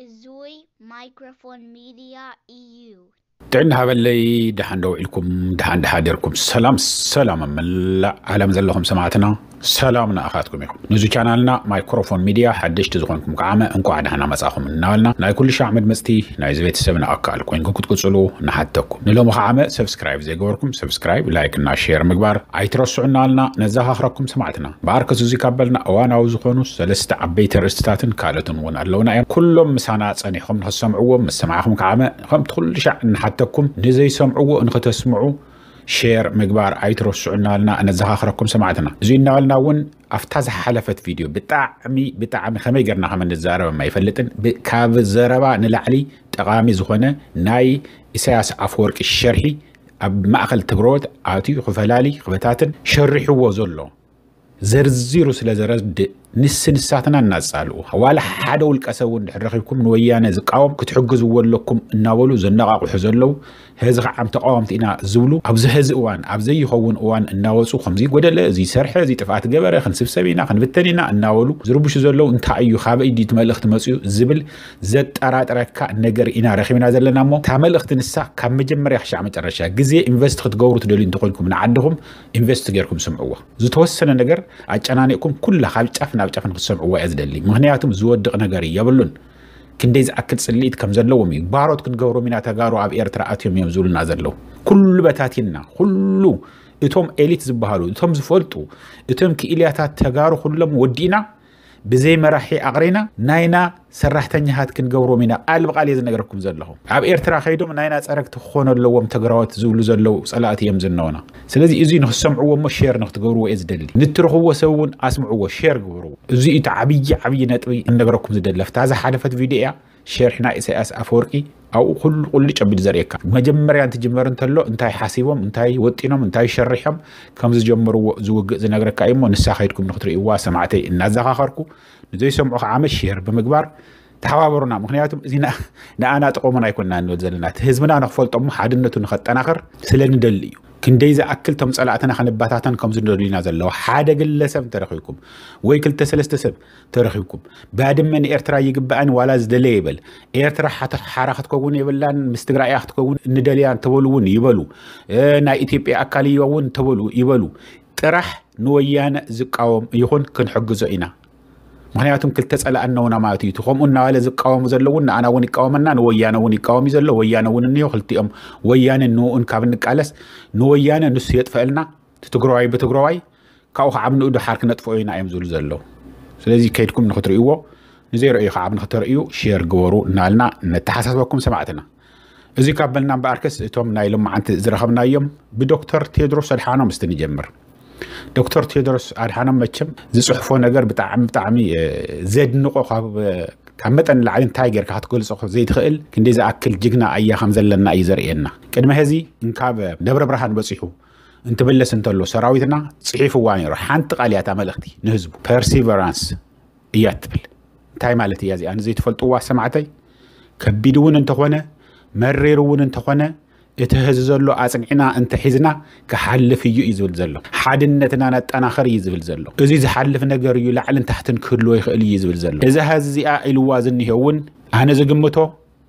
እዙይ ማይክሮፎን ሚድያ እዩ። ጥዕና ሃበለይ። ደሓን ዶ ውዒልኩም? ደሓን ደሓ ደርኩም? ሰላም ሰላም ኣብ መላእ ዓለም ዘለኹም ሰማዕትና፣ ሰላም ንኣኻትኩም ይኹን። ንዚ ቻናልና ማይክሮፎን ሚድያ ሓደሽቲ ዝኾንኩም ከዓመ እንኳዕ ደሓና መጻኹም እናበልና፣ ናይ ኩሉ ሻዕ መድመጽቲ ናይዚ ቤተሰብና ኣካል ኮይንኩም ክትቅጽሉ ንሓተኩም። ንሎሚ ከዓመ ሰብስክራይብ ዘይገበርኩም ሰብስክራይብ፣ ላይክ እና ሼር ምግባር ኣይትረስዑ እናበልና ነዘኻኽረኩም ሰማዕትና። ብኣርከስ እዚ ካብ በልና እዋናዊ ዝኾኑ ሰለስተ ዓበይቲ ኣርእስትታትን ካልኦትን እውን ኣለውና እዮም። ኩሎም ምሳና ጸኒሕኩም ንኽትሰምዕዎም፣ ምስ ሰማዕኹም ከዓመ ከምቲ ኩሉ ሻዕ እንሓተኩም ንዘይሰምዕዎ ንኽተስምዑ ሼር ምግባር ኣይትረስዑ እናበልና ነዘኻኽረኩም ሰማዕትና። እዚ እናበልና እውን ኣብታ ዝሓለፈት ቪድዮ ብጣዕሚ ብጣዕሚ ከመይ ጌርና ከም እንዛረብ ኣይፈልጥን፣ ብ- ካብ ዘረባ ንላዕሊ ጠቓሚ ዝኾነ ናይ ኢሳያስ ኣፈወርቂ ሸርሒ ኣብ ማእኸል ትግረዎት ኣትዩ ክፈላሊ ክበታትን ሸሪሕዎ ዘሎ ዘርዚሩ ስለ ዘረድእ ንስ ንሳትና እናጻልኡ ዋላ ሓደ ውልቀ ሰብ እውን ድሕር ረኺብኩም ንወያነ ዝቃወም ክትሕግዝዎ ኣለኩም እናበሉ ዘነቓቕሑ ዘለዉ፣ ሕዚ ከዓ ተቃወምቲ ኢና ዝብሉ ኣብዚ ሕዚ እዋን ኣብ ዘይኸውን እዋን እናወፁ ከምዚ ጎደለ፣ እዚ ሰርሐ፣ እዚ ጥፍኣት ገበረ፣ ክንስብሰብ ኢና ክንብተን ኢና እናበሉ ዝርብሹ ዘለዉ እንታይ እዩ፣ ካበይ ድዩ እቲ መልእኽቲ መፅኡ ዝብል ዘጠራጥረካ ነገር ኢና ረኺብና ዘለና። እሞ እታ መልእኽቲ ንሳ ካብ መጀመርያ ክሻዕ መጨረሻ ግዜ ኢንቨስት ክትገብሩ ትደልዩ እንተኮይንኩም ንዓድኹም ኢንቨስት ጌርኩም ስምዕዎ። ዝተወሰነ ነገር ኣጨናኒቕኩም ኩላ ካብ ጫፍ ናብ ጫፍ ንክትሰምዕዎ እየ ዝደሊ። ምክንያቱም ዝወድቕ ነገር የብሉን። ክንደይ ዝኣክል ጽልኢት ከም ዘለዎም እዩ። ባሮት ክንገብሮም ኢና ተጋሩ ኣብ ኤርትራ ኣትዮም እዮም ዝብሉና ዘለዉ። ኩሉ በታቲንና፣ ኩሉ እቶም ኤሊት ዝበሃሉ፣ እቶም ዝፈልጡ፣ እቶም ክኢልያታት ተጋሩ ኩሎም ወዲእና ብዘይ መራሒ ኣቕሪና ናይና ሰራሕተኛታት ክንገብሮም ኢና። ቃል ብቃል እየ ዝነግረኩም ዘለኹ። ኣብ ኤርትራ ከይዶም ናይና ጸረግቲ ክኾኑ ኣለዎም ተግራዎት ዝብሉ ዘለዉ ጸላእቲ እዮም ዝነውና። ስለዚ እዚ ንክሰምዕዎ እሞ ሼር ንክትገብርዎ እየ ዝደሊ። ንትረኽብዎ ሰብ እውን ኣስምዕዎ፣ ሼር ግበርዎ። እዚ እቲ ዓብዪ ዓብዪ ነጥቢ ክነግረኩም ዝደሊ። ኣብታ ዝሓለፈት ቪድዮ እያ ሸርሒ ናይ ኢሳያስ ኣፈወርቂ ኣብኡ ኩሉ ቁልጭ ኣቢሉ ዘርእየካ። መጀመርያ እንትጅመር እንተሎ እንታይ ሓሲቦም፣ እንታይ ወጢኖም፣ እንታይ ሸሪሖም ከም ዝጀመርዎ ዝውግእ ዝነግረካ እዩ እሞ ንሳ ከይድኩም ንክትርእይዋ ሰማዕተይ እናዘኻኸርኩ ንዘይሰምዑ ከዓ ሼር ብምግባር ተሓባበሩና። ምክንያቱም እዚ ንኣ- ንኣና ጥቕሙን ኣይኮንና ንብል ዘለና፣ እቲ ህዝብና ንክፈልጦ እሞ ሓድነቱ ንኸጠናኽር ስለ ንደሊ እዩ። ክንደይ ዝኣክል ቶም ጸላእትና ክንበታተን ከም ዝደልዩና ዘለዉ ሓደ ግለሰብ እንተረኺብኩም ወይ ክልተ ሰለስተ ሰብ ተረኺብኩም ባድመ ንኤርትራ ይግባእን ዋላ ዝደለየ ይበል፣ ኤርትራ ሓተ- ሓራ ክትከውን የብላን፣ ምስ ትግራይ እያ ክትከውን እንደልያ እንተበሉ እውን ይበሉ፣ እ፣ ናይ ኢትዮጵያ ኣካል እያ እውን እንተበሉ ይበሉ፣ ጥራሕ ንወያነ ዝቃወም ይኹን ክንሕግዞ ኢና። ምክንያቱም ክልተ ጸላእ ኣለውና ማለት እዩ። እቲ ከምኡ እናበለ ዝቃወሙ ዘለውን ንኣና እውን ይቃወመና፣ ንወያነ እውን ይቃወም እዩ ዘሎ። ወያነ እውን እኒሆ ክልቲኦም ወያነ ንኡን ካብ ንቃለስ ንወያነ ንሱ የጥፈእልና፣ እቲ ትግራዋይ ብትግራዋይ ካብኡ ከዓ ንኡ ድሓር ክነጥፍኦ ኢና እዮም ዝብሉ ዘለዉ። ስለዚ ከይድኩም ንክትርእይዎ፣ ንዘይረእዩ ከዓ ንክተርእዩ ሼር ግበሩ እናበልና ነተሓሳስበኩም ሰማዕትና። እዚ ካብ በልና እምበኣርከስ እቶም ናይ ሎማዓንቲ ዝረኸብናዮም ብዶክተር ቴድሮስ ኣድሓኖም እስቲ ንጀምር። ዶክተር ቴድሮስ ኣድሓኖም መቸም ዝፅሕፎ ነገር ብጣዕሚ ብጣዕሚ እ፣ ዘድንቆ ካብ እ፣ ካብ መጠን ንላዕሊ እንታይ ጌርካ ክትገልፆ ዘይትኽእል ክንደይ ዝኣክል ጅግና ኣያ ከም ዘለና እዩ ዘርእየና። ቅድሚ ሕዚ እንካብ ደብረ ብርሃን በፂሑ እንትምለስ እንተሎ ሰራዊትና ፅሒፍዋ ነይሩ። ሓንቲ ቃል እያ እታ መልእኽቲ ንህዝቡ ፐርሲቨራንስ እያ ትብል። እንታይ ማለት እያ እዚኣ ንዘይትፈልጥዋ ሰማዕተይ? ከቢድ እውን እንተኾነ መሪር እውን እንተኾነ እቲ ሕዚ ዘሎ ኣጽኒዕና እንተሒዝና ክሓልፍ እዩ እዩ ዝብል ዘሎ። ሓድነትና ነጠናኽር እዩ ዝብል ዘሎ። እዚ ዝሓልፍ ነገር እዩ፣ ላዕልን ታሕትን ክህልዎ ይኽእል እዩ ዝብል ዘሎ። እዛ ሕዚ እዚኣ ኢልዋ ዝኒሄ እውን ኣነ ዝግምቶ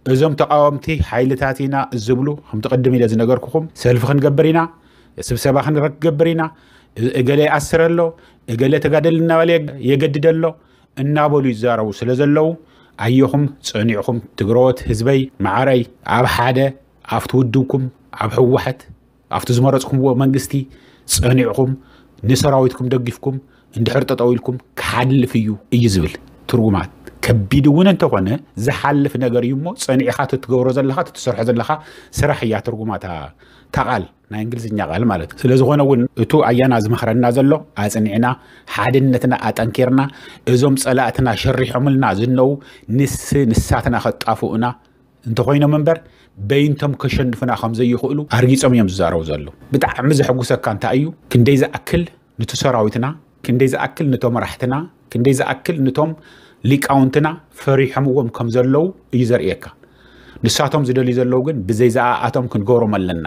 እዞም ተቃወምቲ ሓይልታት ኢና ዝብሉ ከምቲ ቅድም ኢለ ዝነገርኩኹም ሰልፊ ክንገብር ኢና፣ ስብሰባ ክንገብር ኢና፣ እገለ ይኣስር ኣሎ፣ እገለ ተጋደል እናበለ የገድድ ኣሎ እናበሉ ይዛረቡ ስለ ዘለዉ ኣየኹም ጸኒዕኹም ትግረዎት ህዝበይ መዓረይ ኣብ ሓደ ኣብቲ ውድብኩም ኣብ ህወሓት ኣብቲ ዝመረጽኩምዎ መንግስቲ ጸኒዕኹም ንሰራዊትኩም ደጊፍኩም እንድሕር ጠጠው ኢልኩም ክሓልፍ እዩ እዩ ዝብል ትርጉማት። ከቢድ እውን እንተኾነ ዝሓልፍ ነገር እዩ እሞ ጸኒዕኻ ትትገብሮ ዘለኻ ትትሰርሖ ዘለኻ ስራሕ እያ ትርጉማታ ታቓል ናይ እንግሊዝኛ ቃል ማለት እዩ። ስለዝኾነ እውን እቱ ኣያና ዝመኽረና ዘሎ ኣጽኒዕና ሓድነትና ኣጠንኪርና እዞም ጸላእትና ሸሪሖምልና ዝነው ንስ ንሳትና ከጣፍኡና እንተኾይኖም እምበር በይንቶም ከሸንፉና ከም ዘይኽእሉ ኣርጊጾም እዮም ዝዛረቡ ዘለዉ። ብጣዕሚ ዘሐጉሰካ እንታይ እዩ? ክንደይ ዝኣክል ንቲ ሰራዊትና ክንደይ ዝኣክል ንቶም መራሕትና ክንደይ ዝኣክል ንቶም ሊቃውንትና ፈሪሖምዎም ከም ዘለዉ እዩ ዘርእየካ። ንሳቶም ዝደልዩ ዘለዉ ግን ብዘይ ዝኣኣቶም ክንገብሮም ኣለና፣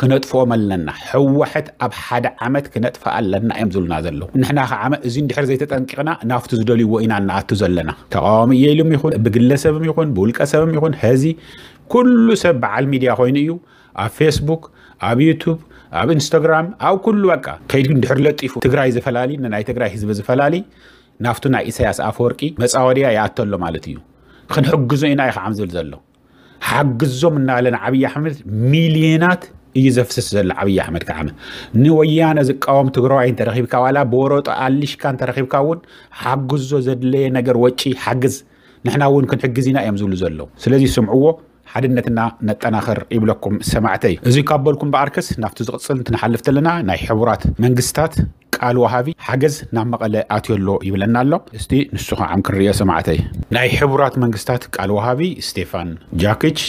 ክነጥፍኦም ኣለና። ህወሓት ኣብ ሓደ ዓመት ክነጥፍኣ ኣለና እዮም ዝብሉና ዘለዉ። ንሕና ከዓ እዚ እንድሕር ዘይተጠንቂቕና ናብቲ ዝደልይዎ ኢና እንኣቱ ዘለና። ተቃዋሚ እየ ኢሉም ይኹን ብግለሰብም ይኹን ብውልቀ ሰብም ይኹን ሕዚ ኩሉ ሰብ በዓል ሚድያ ኮይኑ እዩ ኣብ ፌስቡክ፣ ኣብ ዩቱብ፣ ኣብ ኢንስታግራም፣ ኣብ ኩሉ በቃ ከይዱ እንድሕር ለጢፉ ትግራይ ዝፈላሊ፣ ንናይ ትግራይ ህዝቢ ዝፈላሊ ናብቱ ናይ ኢሳያስ ኣፈወርቂ መፃወድያ ይኣተሎ ማለት እዩ። ክንሕግዞ ኢና እዩ ከዓ ዝብል ዘሎ። ሓግዞም እናበለ ንዓብዪ ኣሕመድ ሚልዮናት እዩ ዘፍስስ ዘሎ። ዓብዪ ኣሕመድ ከዓ ንወያነ ዝቃወም ትግራዋይ እንተረኺብካ ዋላ ብወረጦ ኣሊሽካ እንተረኺብካ እውን ሓግዞ፣ ዘድለየ ነገር ወጪ ሓግዝ፣ ንሕና እውን ክንሕግዝ ኢና እዮም ዝብሉ ዘለዉ። ስለዚ ስምዕዎ፣ ሓድነትና ነጠናኽር ይብለኩም ሰማዕተይ። እዚ ካብ በልኩም በኣርከስ ናብቲ ዝቕፅል እንትንሓልፍ ተለና ናይ ሕቡራት መንግስታት ቃል ወሃቢ ሓገዝ ናብ መቐለ ኣትዮ ኣሎ ይብለና ኣሎ። እስቲ ንሱ ከዓ ክንሪኦ ሰማዕተይ። ናይ ሕቡራት መንግስታት ቃል ወሃቢ ስቴፋን ጃኪች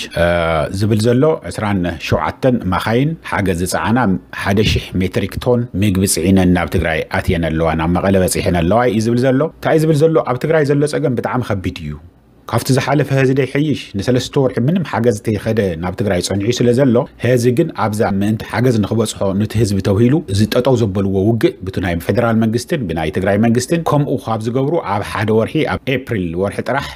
ዝብል ዘሎ ዕስራን ሸውዓተን መኻይን ሓገዝ ዝፀዓና ሓደ ሺሕ ሜትሪክ ቶን ምግቢ ፅዒነን ናብ ትግራይ ኣትየን ኣለዋ፣ ናብ መቐለ በፂሐን ኣለዋ እዩ ዝብል ዘሎ። እንታይ ዝብል ዘሎ? ኣብ ትግራይ ዘሎ ፀገም ብጣዕሚ ከቢድ እዩ። ካብቲ ዝሓለፈ ህዚ ደይሐይሽ ንሰለስተ ወርሒ ምንም ሓገዝ ተይኸደ ናብ ትግራይ ፀኒሑ ስለ ዘሎ፣ ህዚ ግን ኣብዛ ምእንቲ ሓገዝ ንክበፅሖ ንቲ ህዝቢ ተብሂሉ እዚ ጠጠው ዘበልዎ ውግእ ብቲ ናይ ፌደራል መንግስትን ብናይ ትግራይ መንግስትን ከምኡ ካብ ዝገብሩ ኣብ ሓደ ወርሒ ኣብ ኤፕሪል ወርሒ ጥራሕ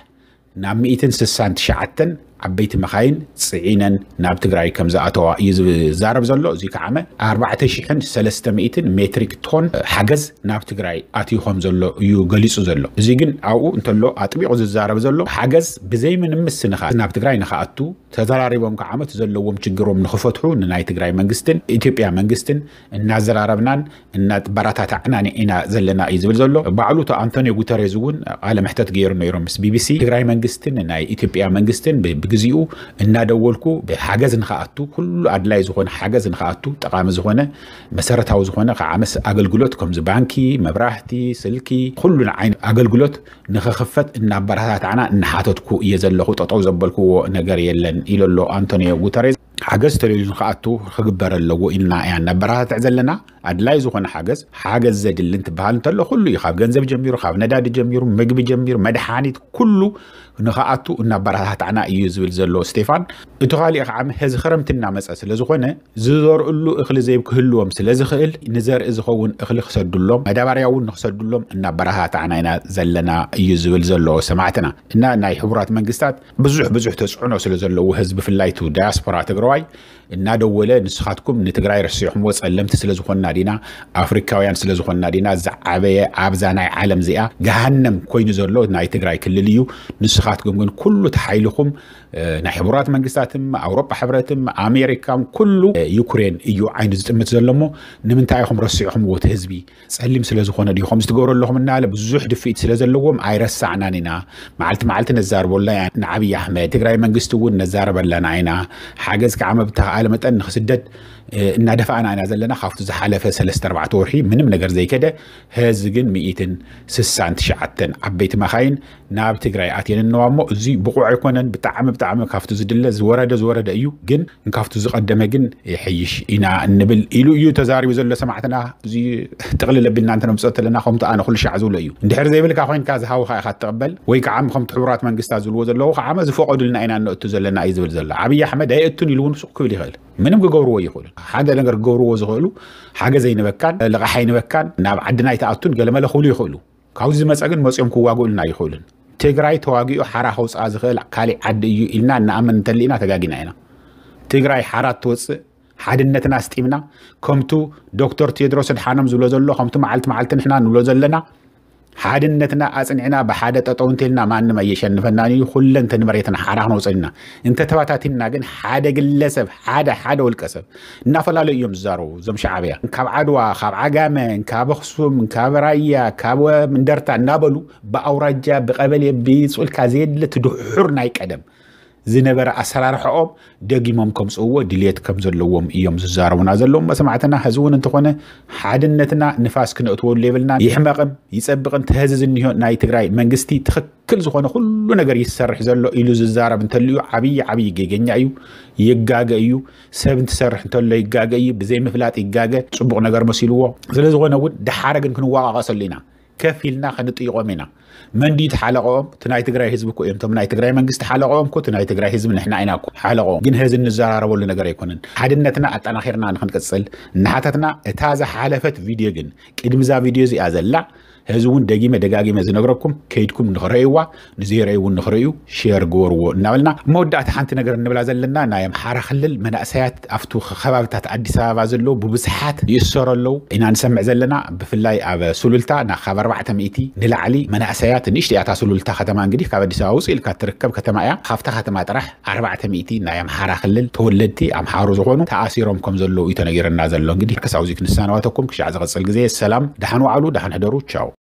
ናብ ሚእትን ስሳን ትሽዓተን ዓበይቲ መኻይን ፅዒነን ናብ ትግራይ ከም ዝኣተዋ እዩ ዝዛረብ ዘሎ። እዚ ከዓመ ኣርባዕተ ሽሕን ሰለስተ ሚእትን ሜትሪክ ቶን ሓገዝ ናብ ትግራይ ኣትዩ ከም ዘሎ እዩ ገሊፁ ዘሎ። እዚ ግን ኣብኡ እንተሎ ኣጥቢቑ ዝዛረብ ዘሎ ሓገዝ ብዘይ ምንም ምስንኻት ናብ ትግራይ ንክኣቱ ተዘራሪቦም ከዓመት ዘለዎም ችግሮም ንክፈትሑ ንናይ ትግራይ መንግስትን ኢትዮጵያ መንግስትን እናዘራረብናን እናበረታታዕናን ኢና ዘለና እዩ ዝብል ዘሎ። ባዕሉ እቲ ኣንቶኒዮ ጉተሬዝ እውን ቃለ መሕተት ገይሩ ነይሮም ምስ ቢቢሲ። ትግራይ መንግስትን ናይ ኢትዮጵያ መንግስትን ብ- ብግዚኡ እናደወልኩ ብሓገዝ ንክኣቱ፣ ኩሉ ኣድላይ ዝኾነ ሓገዝ ንክኣቱ፣ ጠቓሚ ዝኾነ መሰረታዊ ዝኾነ ከዓ ምስ ኣገልግሎት ከምዚ ባንኪ፣ መብራህቲ፣ ስልኪ፣ ኩሉ ዓይነት ኣገልግሎት ንክኽፈት እናበረታታዕና እናሓተትኩ እየ ዘለኹ። ጠጠው ዘበልክዎ ነገር የለን ኢሉ ኣሎ ኣንቶኒዮ ጉተሬዝ። ሓገዝ ተልኢሉ ንክኣቱ ክግበር ኣለዎ ኢልና እያ እናበረታትዕ ዘለና። ኣድላይ ዝኾነ ሓገዝ፣ ሓገዝ ዘድሊ እንትበሃል እንተሎ ኩሉ እዩ፣ ካብ ገንዘብ ጀሚሩ፣ ካብ ነዳዲ ጀሚሩ፣ ምግቢ ጀሚሩ፣ መድሓኒት፣ ኩሉ ንክኣቱ እናበረታታዕና እዩ ዝብል ዘሎ ስቴፋን። እቲ ካሊእ ከዓ ሕዚ ክረምቲ እናመፀ ስለ ዝኾነ ዝዘርእሉ እኽሊ ዘይክህልዎም ስለ ዝኽእል ንዘርኢ ዝኸውን እኽሊ ክሰዱሎም፣ መዳበርያ እውን ንክሰዱሎም እናበረታታዕና ኢና ዘለና እዩ ዝብል ዘሎ ሰማዕትና። እና ናይ ሕቡራት መንግስታት ብዙሕ ብዙሕ ተፅዕኖ ስለ ዘለዎ ህዝቢ ብፍላይ እቲ ዳያስፖራ ትግራዋይ እናደወለ ንስኻትኩም ንትግራይ ረሲዕኹምዎ ፀለምቲ ስለ ዝኾንና ዲና ኣፍሪካውያን ስለ ዝኾንና ዲና ዝዓበየ ኣብዛ ናይ ዓለም እዚኣ ገሃነም ኮይኑ ዘሎ ናይ ትግራይ ክልል እዩ። ንስኻትኩም ግን ኩሉ ተሓይልኹም ናይ ሕቡራት መንግስታትም ኣውሮጳ ሕብረትም ኣሜሪካን ኩሉ ዩክሬን እዩ ዓይኑ ዝጥምት ዘሎ እሞ ንምንታይ ኢኹም ረሲዕኹምዎ እቲ ህዝቢ ፀሊም ስለ ዝኾነ ድዩ ከምዚ ትገብሩ ኣለኹም እናበለ ብዙሕ ድፍኢት ስለ ዘለዎም ኣይረሳዕናን ኢና። መዓልቲ መዓልቲ ነዛርበላ ኢና ንዓብዪ ኣሕመድ። ትግራይ መንግስቲ እውን ነዛረበላና ኢና። ሓገዝ ከዓ መብተኸኣለ መጠን ንክስደድ እናደፋእና ኢና ዘለና። ካብቲ ዝሓለፈ ሰለስተ ኣርባዕተ ወርሒ ምንም ነገር ዘይከደ ህዚ ግን ሚእትን ስሳን ትሽዓተን ዓበይቲ መኻይን ናብ ትግራይ ኣትየን እነዋ እሞ እዚ ብቑዕ ኣይኮነን። ብጣዕሚ ብጣዕሚ ካብቲ ዝድለ ዝወረደ ዝወረደ እዩ፣ ግን ካብቲ ዝቐደመ ግን ይሐይሽ ኢና እንብል ኢሉ እዩ ተዛሪቡ ዘሎ ሰማዕትና። እዚ ጥቕልል ኣቢልና እንተነምፅኦ ተለና ከምቲ ኣነ ኩሉ ሻዕ ዝብሎ እዩ። እንድሕር ዘይብልካ ኮይንካ ዝሃውኻ ኢኻ ትቕበል ወይ ከዓ ከምቲ ሕቡራት መንግስታት ዝብልዎ ዘለዉ ከዓ ዝፈቐዱልና ኢና እነእቱ ዘለና እዩ ዝብል ዘሎ። ዓብዪ ኣሕመድ ኣየእቱን ኢሉ እውን ሱቕ ክብል ይኽእል። ምንም ክገብርዎ ይኽእሉ። ሓደ ነገር ክገብርዎ ዝኽእሉ ሓገዝ ኣይንበካን፣ ልቓሕ ኣይንበካን፣ ናብ ዓድና ኣይትኣቱን ገለመለ ክብሉ ይኽእሉ። ካብዚ ዝመፀ ግን መፂኦም ክዋግኡልና ኣይኽእሉን። ትግራይ ተዋጊኡ ሓራ ከውፅኣ ዝኽእል ካሊእ ዓዲ እዩ ኢልና እንኣምን እንተሊና ተጋጊና ኢና። ትግራይ ሓራ ትወፅእ ሓድነትና ኣስጢምና ከምቱ ዶክተር ቴድሮስ ኣድሓኖም ዝብሎ ዘሎ ከምቱ መዓልቲ መዓልቲ ንሕና ንብሎ ዘለና ሓድነትና ኣፅኒዕና ብሓደ ጠጠው እንተልና ማንም ኣየሸንፈናን እዩ። ኩለን ተንበሬትና ሓራ ክነውፅእ ኢና። እንተተባታቲንና ግን ሓደ ግለሰብ ሓደ ሓደ ውልቀ ሰብ እናፈላለዩ እዮም ዝዛረቡ እዞም ሸዓብያ። ካብ ዓድዋ፣ ካብ ዓጋመ፣ ካብ ኣኽሱም፣ ካብ ራያ፣ ካብ እንደርታ እናበሉ ብኣውራጃ ብቀበሌ ብፅልካ ዘየድለ እቲ ድሑር ናይ ቀደም ዝነበረ ኣሰራርሕኦም ደጊሞም ከምፅእዎ ድልየት ከም ዘለዎም እዮም ዝዛረቡና ዘለዎም መሰማዕትና። ሕዚ እውን እንተኾነ ሓድነትና ንፋስ ክነእትወሉ የብልና። ይሕመቕን ይፀብቕን ተህዚ ዝኒሆ ናይ ትግራይ መንግስቲ ትኽክል ዝኾነ ኩሉ ነገር ይሰርሕ ዘሎ ኢሉ ዝዛረብ እንተልዩ ዓብዪ ዓብዪ ጌገኛ እዩ። ይጋገ እዩ። ሰብ እንትሰርሕ እንተሎ ይጋገ እዩ። ብዘይምፍላጥ ይጋገ፣ ፅቡቕ ነገር መሲልዎ። ስለ ዝኾነ እውን ደሓረ ግን ክንወቃቀሰሉ ኢና። ከፍ ኢልና ከንጥይቖም ኢና። መንዲ ተሓለቆም እቲ ናይ ትግራይ ህዝቢ እኮ እዮም። እቶም ናይ ትግራይ መንግስቲ ሓለቆም እኮ እቲ ናይ ትግራይ ህዝቢ ንሕና ኢና እኮ ሓለቆም። ግን ህዚ እንዘራረበሉ ነገር ኣይኮነን። ሓድነትና ኣጠናኺርና ንክንቅፅል እናሓተትና፣ እታ ዝሓለፈት ቪድዮ ግን ቅድሚ እዛ ቪድዮ እዚኣ ዘላ፣ ህዚ እውን ደጊመ ደጋጊመ ዝነግረኩም፣ ከይድኩም ንኽረእይዋ፣ ንዘይረእዩ እውን ንኽረእዩ ሼር ግበርዎ እናበልና፣ መወዳእታ ሓንቲ ነገር እንብላ ዘለና፣ ናይ ኣምሓራ ክልል መናእሰያት ኣብቱ ከባብታት ኣዲስ ኣበባ ዘለዉ ብብዝሓት ይእሰሩ ኣለዉ ኢና ንሰምዕ ዘለና። ብፍላይ ኣብ ሱሉልታ ና ካብ ኣርባዕተ ሚእቲ ንላዕሊ መናእሰያት፣ ንእሽቲ እያ እታ ሱሉልታ ከተማ፣ እንግዲህ ካብ ኣዲስ ኣበባ ውፅእ ኢልካ ትርከብ ከተማ እያ። ካብታ ከተማ ጥራሕ ኣርባዕተ ሚእቲ ናይ ኣምሓራ ክልል ተወለድቲ ኣምሓሩ ዝኾኑ ተኣሲሮም ከም ዘለዉ እዩ ተነጊረና ዘሎ። እንግዲህ ክሳብ እዚ ክንሰናበተኩም፣ ክሻዕ ዝቐፅል ግዜ ሰላም፣ ደሓን ዋዕሉ፣ ደሓን ሕደሩ፣ ቻው።